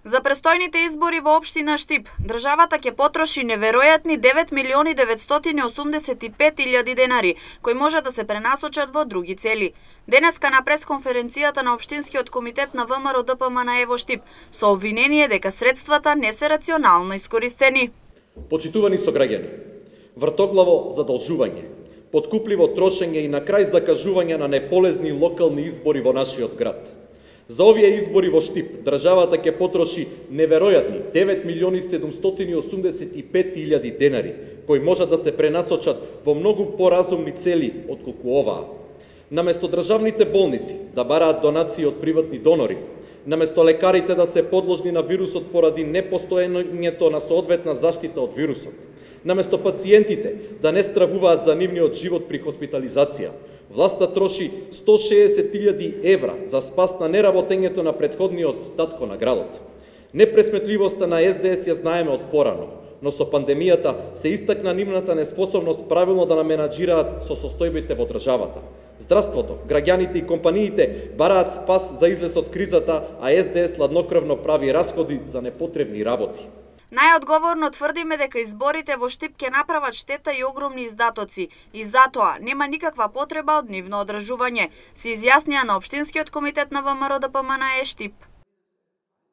За престојните избори во општина Штип, државата ќе потроши неверојатни 9.985.000 денари, кои може да се пренасочат во други цели. Денеска на пресконференцијата на Општинскиот комитет на ВМРО ДПМН во Штип, со обвинение дека средствата не се рационално искористени. Почитувани сограѓани, вртоглаво задолжување, подкупливо трошење и на крај закажување на неполезни локални избори во нашиот град. За овие избори во Штип, државата ќе потроши неверојатни 9.785.000 денари, кои можат да се пренасочат во многу поразумни цели отколку оваа. Наместо државните болници да бараат донации од приватни донори, наместо лекарите да се подложни на вирусот поради непостоењето на соодветна заштита од вирусот, наместо пациентите да не стравуваат за нивниот живот при хоспитализација, власта троши 160.000 евра за спас на неработењето на претходниот татко на градот. Непресметливоста на СДС ја знаеме од порано, но со пандемијата се истакна нивната неспособност правилно да наменаџираат со состојбите во државата. Здравството, граѓаните и компаниите бараат спас за излез од кризата, а СДС ладнокрвно прави расходи за непотребни работи. Најодговорно тврдиме дека изборите во Штип ќе направат штета и огромни издатоци и затоа нема никаква потреба од нивно одржување, се изјаснија на Општинскиот комитет на ВМРО ДПМН Штип.